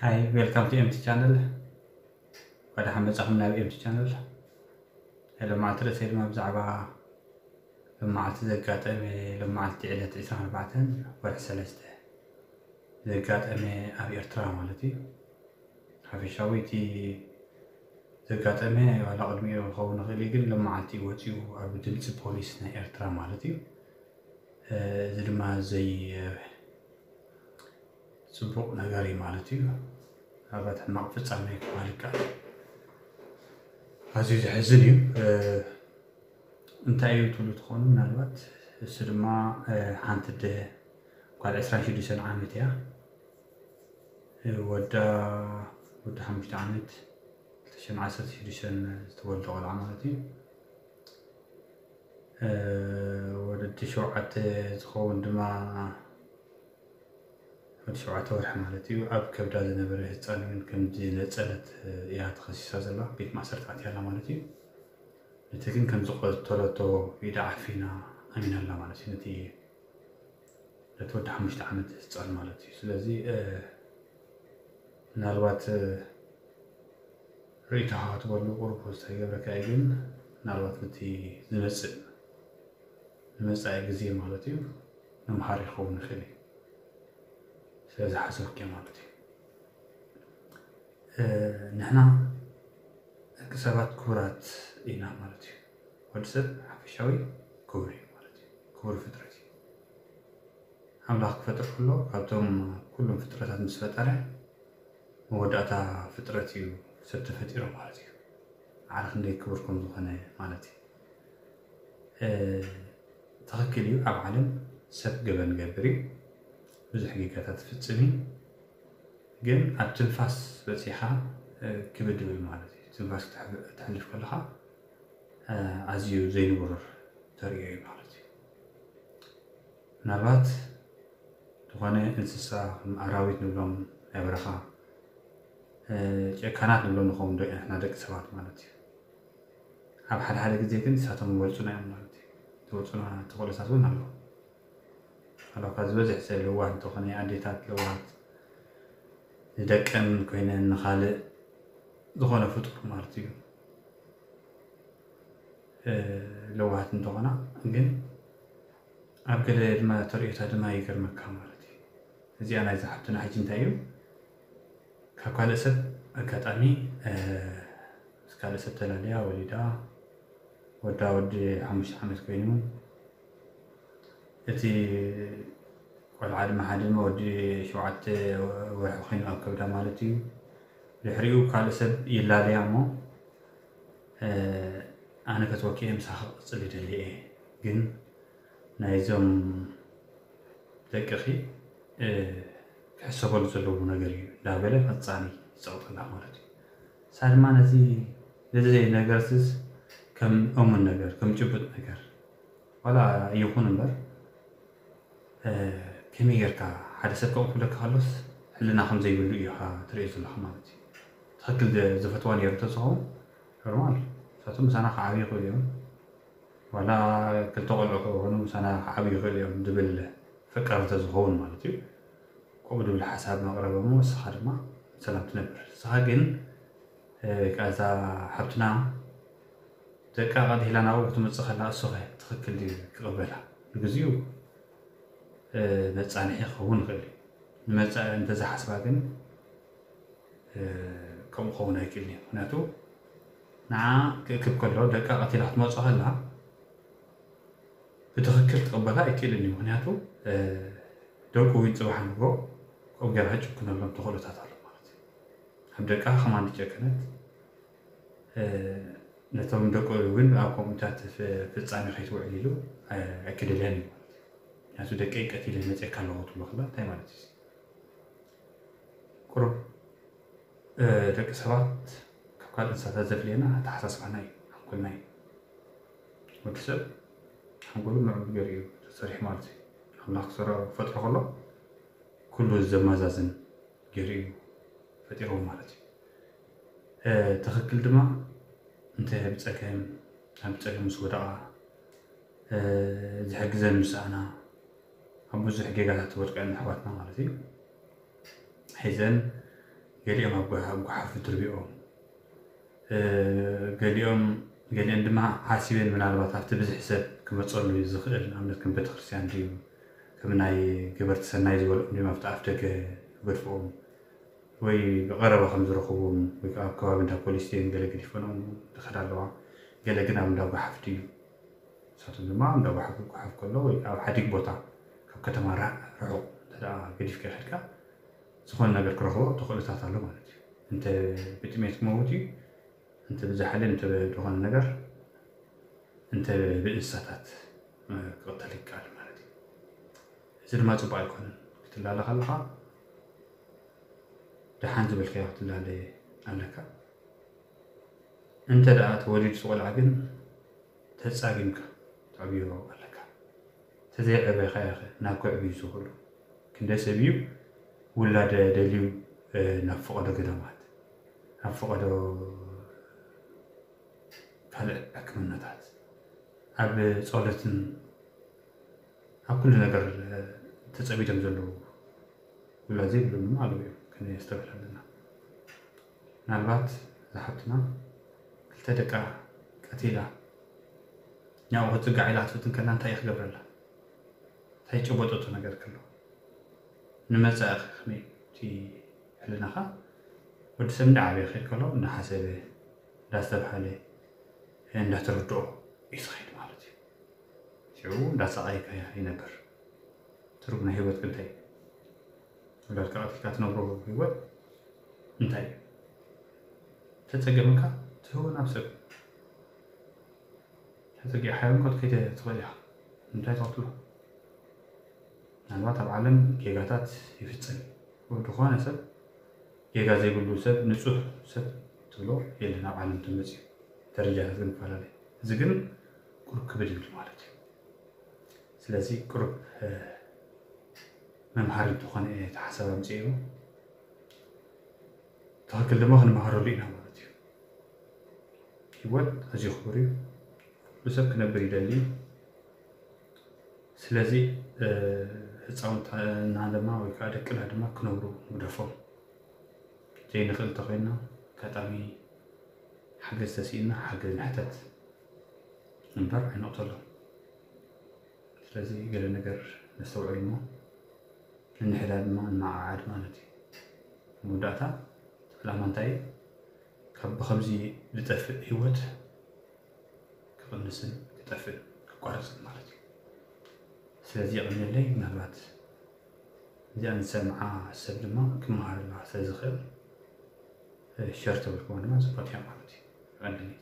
Hi, welcome to M T channel. ወደ ሓመጻኹም ናብ M T channel። ሎማዓልቲ ርእሰይ ድማ ብዛዕባ ሎማዓልቲ ዘጋጠመ፣ ሎማዓልቲ ዕለት ዕስራን ኣርባዕተን ወርሒ ሰለስተ ዘጋጠመ ኣብ ኤርትራ ማለት እዩ። ሓፈሻዊ እቲ ዘጋጠመ ዋላ ቅድሚኡ ክኸውን ይኽእል እዩ፣ ግን ሎማዓልቲ እዩ ወፂኡ ኣብ ድምፂ ፖሊስ ናይ ኤርትራ ማለት እዩ። እዚ ድማ ዘይ ፅቡቕ ነገር እዩ ማለት እዩ። ምናልባት ሕማቕ ፍጻሜ ክበሃል ይከኣል። ኣዝዩ ዘሕዝን እዩ። እንታይ እዩ ትብሉ ትኾኑ? ምናልባት እሱ ድማ ሓንቲ ኣደ ጓል ዕስራን ሽዱሽተን ዓመት እያ። ወዳ ወዲ ሓሙሽተ ዓመት፣ ክልተ ሽሕን ዓሰርተ ሽዱሽተን ዝተወልደ ቆልዓ ማለት እዩ። ወዲ ሸውዓተ ዝኸውን ድማ ወዲ ሸውዓተ ወርሒ ማለት እዩ። ኣብ ከብዳ ዝነበረ ህፃን እውን ከም ዝነፀለት እያ ተኸሲሳ ዘላ። ቤት ማእሰርቲ ኣትያ ኣላ ማለት እዩ። ነቲ ግን ከም ዝቐተለቶ ኢዳ ዓፊና ኣሚና ኣላ ማለት እዩ። ነቲ ነቲ ወዲ ሓሙሽተ ዓመት ህፃን ማለት እዩ። ስለዚ ምናልባት ርእይቶኻ ክትበሉ ቁሩብ ፖስት ኣይገብረካ እዩ፣ ግን ምናልባት ነቲ ዝመፅእ ንመፃኢ ግዜ ማለት እዩ መምሃሪ ይኸውን ይኽእል እዩ። ስለዚ ሓሰብኪ ማለት እዩ። ንሕና ደቂ ሰባት ክቡራት ኢና ማለት እዩ። ወዲ ሰብ ሓፈሻዊ ክቡር እዩ ማለት እዩ። ክቡር ፍጥረት እዩ። ኣምላኽ ክፈጥር ከሎ ካብቶም ኩሎም ፍጥረታት ምስ ፈጠረ መወዳእታ ፍጥረት እዩ ሰብ ተፈጢሩ ማለት እዩ። ዓረ ክንደይ ክቡር ከም ዝኾነ ማለት እዩ። ትኽክል እዩ፣ ኣብ ዓለም ሰብ ገበን ገብር እዩ፣ ብዙሕ ጌጋታት ትፍጽም እዩ። ግን ኣብ ትንፋስ በጺኻ ክብድ ይብል ማለት እዩ። ትንፋስ ክትሕልፍ ከለኻ ኣዝዩ ዘይንቡር ተርእዮ እዩ ማለት እዩ። ምናልባት ዝኾነ እንስሳ ከም ኣራዊት ንብሎም ናይ በረኻ ጨካናት ንብሎም ንኸውን ንሕና ደቂ ሰባት ማለት እዩ። ኣብ ሓደ ሓደ ግዜ ግን ንሳቶም ይበልፁና እዮም ማለት እዩ። ዝወፁና ተኽእሎታት እውን ኣለዉ። ኣለካ ዝበዝሕ ሰብ ለዋህ እንተኾነ ኣዴታት ለዋሃት ንደቀን ኮይነን ንኻልእ ዝኾነ ፍጡር ማለት እዩ ለዋሃት እንተኾና ግን ኣብ ገለ ድማ ተርእዮታ ድማ ይገርመካ ማለት እዩ። እዚኣ ናይ ዝሓብትና ሕጂ እንታይ እዩ? ካብ ካልእ ሰብ ኣጋጣሚ ምስ ካልእ ሰብ ተላልያ ወሊዳ ወዳ ወዲ ሓሙሽተ ዓመት ኮይኑ እቲ ቆልዓ ድማ ሓደ ድማ ወዲ ሸውዓተ ወርሒ ኮይኑ ኣብ ከብዳ ማለት እዩ። ድሕሪኡ ካልእ ሰብ ይላለያ እሞ ኣነ ከትወኪ እየ ምሳኻ ክቕፅል ይደሊ እየ ግን ናይዞም ደቅኺ ክሕሰበሉ ዘለዎ ነገር እዩ እንዳበለ ፈጻሚ ይፀቕጠላ ማለት እዩ። እሳ ድማ ነዚ ነዚ ነገር ስስ ከም እሙን ነገር ከም ጭቡጥ ነገር ዋላ ይኹን እምበር ከመይ ጌርካ ሓደ ሰብ ከምኡ ክብለካ ከሎስ ሕልና ከም ዘይብሉ እዩ ኢኻ ትርእዮ ዘለኻ ማለት እዩ። ትኽክል ዝፈትዋ ነይሩ ተዝኸውን ኖርማል ንሳቶም ምሳና ክዓብዩ ይኽእሉ እዮም። ዋላ ክልተ ቆልዑ ክኾኑ ምሳና ክዓብዩ ይኽእሉ እዮም ዝብል ፈቃሪ ተዝኸውን ማለት እዩ። ከምኡ ዝብል ሓሳብ መቕረበ እሞ ንስኻ ድማ ሰላም ትነብር። ንስኻ ግን እዛ ሓብትና ደቃ ቀዲላ ናብኡ ክትመፅእ ከላ እሱ ኸ ትኽክል ድዩ ክቕበላ? ንግዚኡ መፃንሒ ክኸውን ይኽእል እዩ። ንመፃኢ እንተዝሓስባ ግን ከምኡ ክኸውን ኣይክእልን እዩ። ምክንያቱ ንዓ ክእክብ ከሎ ደቃ ቀቲላ ክትመፅእ ከላ ብትኽክል ክቕበላ ኣይክእልን እዩ። ምክንያቱ ደቁ እውን ፅባሕ ንግሆ ከምኡ ገይራ ክጭክነሎም ተኽእሎታት ኣሎ ማለት እዩ። ኣብ ደቃ ከማን ዝጨከነት ነቶም ደቁ እውን ኣብ ከምኡታት ፍፃሜ ከይትውዕል ኢሉ ኣይክደልያን እዩ ማለት እዩ። ምክንያቱ ደቀይ ቀቲለ መፅየካ ኣለኹ ትብሎ ከላ እንታይ ማለት እዩ? ቁሩብ ደቂ ሰባት ካብ ካልእ እንስሳታት ዘፍልየና ኣተሓሳስባና እዩ፣ ሓንጎልና እዩ። ወዲ ሰብ ሓንጎሉ ምዕቡል ገይሩ እዩ ተሰሪሑ ማለት እዩ። ኣምላኽ ክሰሮ ክፈጥሮ ከሎ ኩሉ ዘመዛዝን ገይሩ እዩ ፈጢርዎ ማለት እዩ። ትኽክል ድማ እንተ ብፀገም ኣብ ፀገም ምስ ወደቓ ዝሕግዘን ምስ ኣና ኣብ ብዙሕ ጌጋታት ዝወድቀን ኣሕዋትና ማለት እዩ። ሒዘን ገሊኦም ኣብ ጓ- ኣብ ጓሓፍ ትርቢኦም፣ እ፣ ገሊኦም ገሊኦም ድማ ሓሲበን ምናልባት ኣብቲ ብዝሒ ሰብ ክመፀሉ ዝኽእል ንኣብነት ከም ቤተክርስትያን ድዩ ከም ናይ ገበርቲ ሰናይ ዝበልኦም ድዮም ኣብቲ ኣፍ ደገ ገድፍኦም ወይ ብቐረባ ከም ዝረኽብዎም ወይ ከዓ ኣብ ከባቢ እንዳ ፖሊስ ድዮም ገለ ገዲፈንኦም ዝኸዳ ኣለዋ። ገለ ግን ኣብ እንዳ ጓሓፍ ድዩ ንሳቶም ድማ እንዳ ጓሓፍ ክጓሓፍ ከሎ ወይ ኣብ ሓዲግ ቦታ ካብ ከተማ ራ- ርሑቕ እንተ ደኣ ገዲፍካ ይኸድካ ዝኾነ ነገር ክረኽቦ ተኽእሎታት ኣሎ ማለት እዩ። እንተ ብጥሜት ክመውት እዩ፣ እንተ ብዝሓለ እንተ ዝኾነ ነገር እንተ ብእንስሳታት ክቕተል ይከኣል ማለት እዩ። እዚ ድማ ፅቡቅ ኣይኮነን። ክትላለ ከለኻ ደሓን ዝበልካዮ ክትላለ ኣለካ። እንተ ደኣ ተወሊዱ ቆልዓ ግን ተፃጊምካ ተዕብዮ ኣለካ። ተዘይዕበኻዮ ኸ ናብ ከዕብዩ ዝኽእሉ ክንደይ ሰብ እዩ ውላደ ደልዩ ናብ ፈቐዶ ገዳማት ናብ ፈቐዶ ካልእ ሕክምናታት ኣብ ጸሎትን ኣብ ኩሉ ነገር ተጸሚዶም ዘለዉ ውላድ ዘይብሎም ድማ ኣለዉ እዮም። ከነስተብህል ኣለና። ምናልባት እዛ ሓብትና ክልተ ደቃ ቀቲላ ናብኡ ክትጽጋዕ ኢላ ክትፍትን ከላ እንታይ እዩ ክገብረላ? እንታይ ጨበጠቶ ነገር ከሎ ንመጻኢ ከ ከመይ እቲ ሕልናኻ ወዲ ሰብ እንዳዓበየ ክኸይድ ከሎ እንዳሓሰበ እንዳስተብሃለ እንዳተረድኦ እዩ ዝኸይድ ማለት እዩ። ሽዑ እንዳሳቐየ ይነብር። ትርጉም ናይ ህይወት ግን እንታይ እዩ? ውላድካ ቀቲልካ ትነብሮ ህይወት እንታይ እዩ? ተጸገመካ ትህቦ ናብ ሰብ ተጸጊዕካዮ እኮ ክትከይድ ትኽእል ኢኻ። እንታይ ትቐትሎ? ምናልባት ኣብ ዓለም ጌጋታት ይፍጸም እዩ። ዝኾነ ሰብ ጌጋ ዘይብሉ ሰብ ንጹህ ሰብ ትብሎ የለን ኣብ ዓለም ተመጽዩ። ደረጃታት ግን ይፈላለ። እዚ ግን ቁሩብ ክብድ ይብል ማለት እዩ። ስለዚ ቁሩብ መምሃሪ ዝኾነ እየ ተሓሳብ ኣምፅኤ ትኽክል ድማ ክንመሃረሉ ኢና ማለት እዩ። ህይወት ኣዝዩ ክቡር እዩ። ኩሉ ሰብ ክነብር ይደሊ እዩ። ስለዚ ህፃውንትና ድማ ወይ ከዓ ደቅና ድማ ክነብሩ ንግደፎም። ዘይንኽእል እንተኮይንና ኣጋጣሚ ሓገዝ ተስኢንና ሓገዝ ንሕተት እምበር ኣይንቕተሎም። ስለዚ ገለ ነገር ነስተውዕል እሞ ንንሕዳ ድማ ንመዓዓድ ማለት እዩ። መወዳእታ እቲ ዕላማ እንታይ እዩ? ካብ ብኸምዚ ዝጠፍእ ህይወት ክቕንስን ክጠፍእን ክቋረፅን ማለት እዩ። ስለዚ የቐንየለይ። ምናልባት እዚኣ ንሰምዓ ሰብ ድማ ክመሃረላ ስለ ዝኽእል ሸር ተበልክዋ ድማ ፅቡቅ እያ ማለት እዩ። የቐንየለይ።